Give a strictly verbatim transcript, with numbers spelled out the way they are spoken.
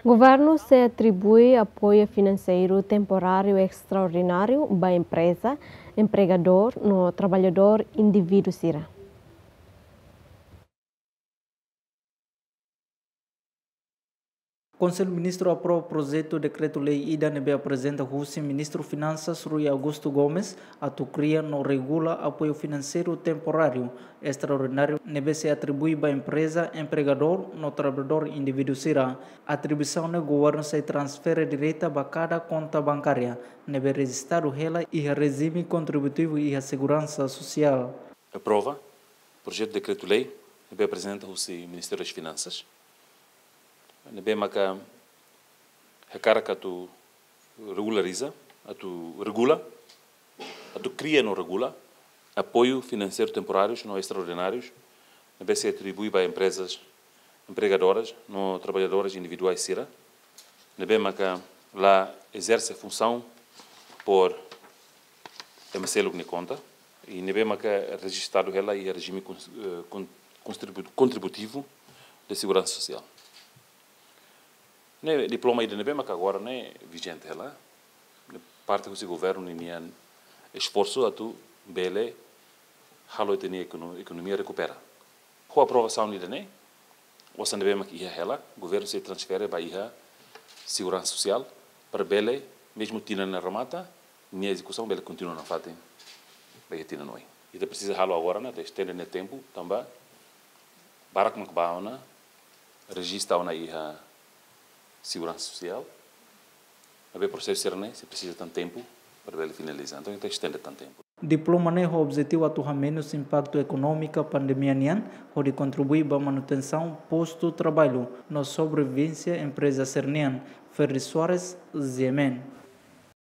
Governu sei atribui apoiu finanseiru temporáriu estraordináriu ba empreza, empregadór no trabalhadór indivíduu sira. Konsellu Ministru aprova projetu dekretu-lei ida ne'ebé aprezenta husi Ministru Finansas Rui Augusto Gomes atu kria no regula apoiu finanseiru temporáriu estraordináriu ne'ebé sei atribui ba empreza, empregadór no trabalhadór indivíduu sira. Atribuisaun ne'e governu sei transfere direta ba kada konta bankária ne'ebé rejistadu hela iha rejime kontributivu iha seguransa sosiál. Aprova projetu dekretu-lei ne'ebé aprezenta husi Ministériu das Finansas, ne'ebé maka hakarak atu regulariza, atu regula, atu kria no regula apoiu finanseiru temporárius no estraordinárius ne'ebé sei atribui ba emprezas, empregadoras no trabalhadoras individuais sira ne'ebé maka la ezerse funsaun por ema seluk nia konta, i ne'ebé maka rejistadu hela iha rejime cons-, eh, con-, contribu-, contributivo de segurança social. Ne'e diploma ida ne'ebé maka agora ne'e vijente hela, ne'e parte husi governu ninian esforsu atu bele halo ita-nia ekono-, ekonomia rekupera. Ho aprovasaun ida-ne'e, osan ne'ebé mak iha hela, governu sei transfere ba iha seguransa sosiál, para bele, mezmu tinan ne'e remata, nia ezekusaun bele kontinua nafatin ba iha tinan oin. Ita presiza halo agora ne'e, atu estende nia tempu, tanba barak mak bá ona, rejista ona iha seguransa sosiál, maibé prosesu sira-ne'e sei presiza tan tempu para bele finaliza. Entaun, ita estende tan tempu. Diploma ne'e ho objetivu atu hamenus impaktu ekonómiku pandemia nian, hodi kontribui ba manutensaun postu traballu no sobrevivénsia empreza sira-nian. Ferdi Soares, G M N.